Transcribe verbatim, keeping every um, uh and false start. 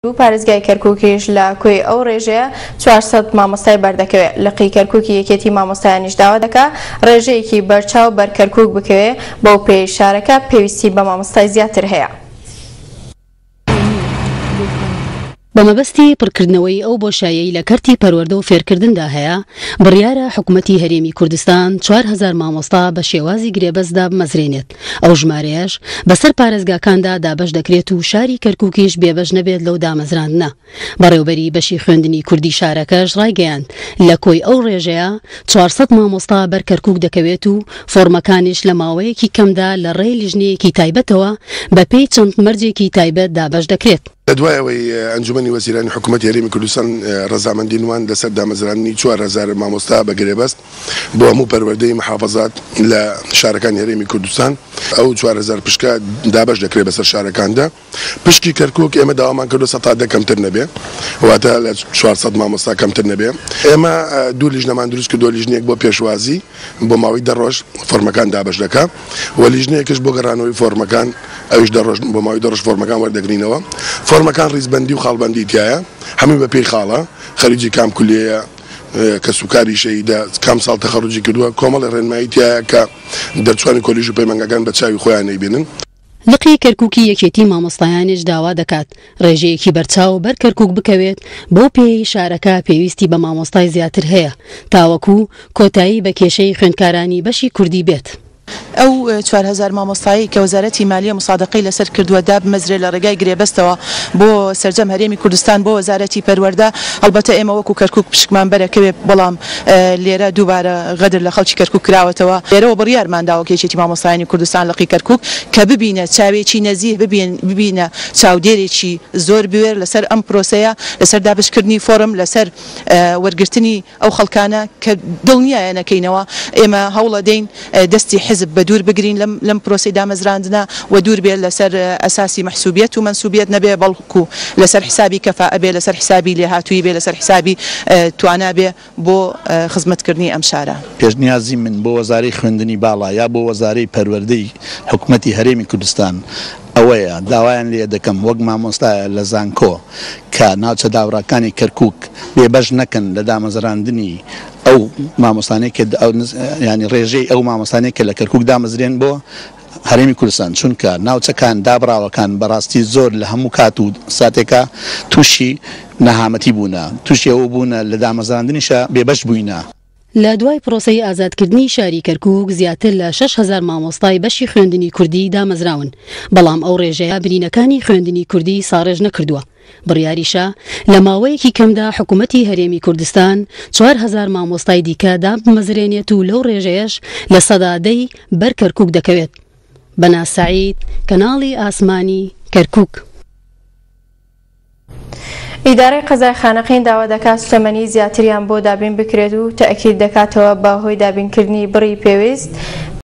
و پارێزگای کەرکووکیش لە کۆی ئەو ڕێژەیە چوار سەد مامۆستای بەردەکەوێت. لقی کەرکووکی یەکێتی مامۆستایانیش داوا دەکا ڕێژەیەکی بەرچاو بەر کەرکووک بکەوێ، بەو پێی شارەکە پێویستی بە مامۆستای زیاتر هەیە. بە مەبەستی پڕکردنەوەی ئەو بۆشایەی لە کەرتی پەروەردە و فێرکردندا هەیە، بڕیارە حکوومەتی هەرێمی کوردستان چوار هەزار مامۆستا بە شێوازی گرێبەستدا بمەزرێنێت. ئەو ژمارەیەش بەسەر پارێزگاکاندا دابەش دەکرێت و شاری کەرکووکیش بێبەش نەبێت لەو دامەزراندنە. بەڕێوبەری بەشی خوێندنی کوردی شارەکەش ڕایگەیاند لە کۆی ئەو ڕێژەیە چوار سەد مامۆستا بەر کەرکووک دەکەوێت و فۆرمەکانیش لە ماوەیەکی کەمدا لە ڕێی لیژنەیەکی تایبەتەوە بەپێی چەند مەرجێکی تایبەت دابەش دەکرێت. لە دوای ئەوەی ئەنجومەنی وەزیرانی حکوومەتی هەرێمی کوردستان ڕەزامەندی نوان لەسەر دامەزراندنی چوار هەزار مامۆستا بە گرێبەست بۆ هەموو پەروەردەی محافظات لە شارەکانی هەرێمی کوردستان، ئەو چوار هەزار پشکە دابەش دەکرێت بەسەر شارەکاندا. پشکی کەرکووک ئێمە داوامان کردو سەد تا دە کەمتر نەبێ، واتە لە چوار سەد مامۆستا کەمتر نەبێ. ئێمە دوو لیژنەمان دروست کردووە، لیژنەیەک بۆ پێشوازی بۆ ماوەی دە ڕۆژ فۆرمەکان دابەش دەکا و لیژنەیەکش بۆ گەڕانەوەی فۆرمەکان ئەویش دە ڕۆژ بۆ ماوەی دە ڕۆژ فۆرمەکان وەردەگرینەوە. فۆرمەکان ڕیزبەندی و خاڵبەندی تایە، هەمووی بە پێی خاڵە، خەریجی کام کولیەیە، کەسوکاری شەهیدە، کام ساڵ تەخەڕوجی کردووە، کۆمەڵی ڕێنمایی تایە کە دەرچوانی کۆلیژ و پەیمانگاکان بە چاوی خۆیان نەیبینن. لقی کەرکووکی یەکێتی مامۆستایانیش داوا دەکات ڕێژەیەکی بەرچاو بەر کەرکووک بکەوێت، بەو پێی شارەکە پێویستی بە مامۆستای زیاتر هەیە تاوەکو کۆتایی بە کێشەی خوێندکارانی بەشی کوردی بێت. ئەو چوار هەزار مامۆستایی کە وەزارەتی مالیە مسادقەی لەسەر کردووە دابمەزرێ لە ڕێگای گرێبەستەوە بۆ سەرجەم هەرێمی کوردستان بۆ وەزارەتی پەروەردە، ئەلبەتە ئێمە وەکو کەرکووک پشکمان بەرەکەوێ، بەڵام لێرە دووبارە غەدر لە خەڵکی کەرکووک کراوەتەوە. لێرەوە بڕیارمان داوە کە یەکێتی مامۆستایانی کوردستان لقی کەرکووک کە ببینە چاوێکی نەزیه، ببینە چاودێرێکی زۆر بوێر لەسەر ئەم پرۆسەیە، لەسەر دابشکردنی فۆرم، لەسەر وەرگرتنی ئەو خەڵکانە کە دڵنیایە نەکەینەوە. ئێمە هەوڵە دەین دەستی حزب بە دوور بگرین لەم پرۆسەی دامەزراندنە و دوور بێت لەسەر ئەساسی مەحسوبیەت و مەنسوبیەت نەبێ، بەڵکو لەسەر حسابی کەفاء بێ، لەسەر حسابی لێهاتوویی بێ، لەسەر حسابی توانا بێ بۆ خزمەتکردنی ئەم شارە. پێشنیازی من بۆ وەزارەی خوێندنی باڵا یا بۆ وەزارەی پەروەردەی حکوومەتی هەرێمی کوردستان ئەوەیە داوایان لێ دەکەم وەک مامۆستایە لە زانکۆ کە ناوچە داوڕاکانی کەرکووک بێبەش نەکەن لە دامەزراندنی ئەو مامۆستانەی کە ینی ڕێژەی ئەو مامۆستانەی کە لە کەرکووک دامەزرێن بۆ هەرێمی کوردستان، چونکە ناوچەکان دابراوەکان بەڕاستی زۆر لە هەموو کات و ساتێکە تووشی نەهامەتی بوونە، تووشی ئەوە بوونە لە دامەزراندنیشە بێبەش بووینە. لە دوای پرۆسەی ئازادکردنی شاری کەرکووک زیاتر لە شەش هەزار مامۆستای بەشی خوێندنی کوردی دامەزراون، بەڵام ئەو ڕێژەیە برینەکانی خوێندنی کوردی ساڕێژ نەکردووە. بڕیاریشە لە ماوەیەکی کەمدا حکوومەتی هەرێمی کوردستان چوار هەزار مامۆستای دیکە دابمەزرێنێت و لەو ڕێژەیەش لە سەدا دەی بەر کەرکووک دەکەوێت. بەنا سەعید، کەناڵی ئاسمانی کەرکووک. ئیدارەی قەزای خانەقین داوا دەکات سوتەمەنی زیاتریان بۆ دابین بکرێت و تەئکید دەکاتەوە بە هۆی دابینکردنی بڕی پێویست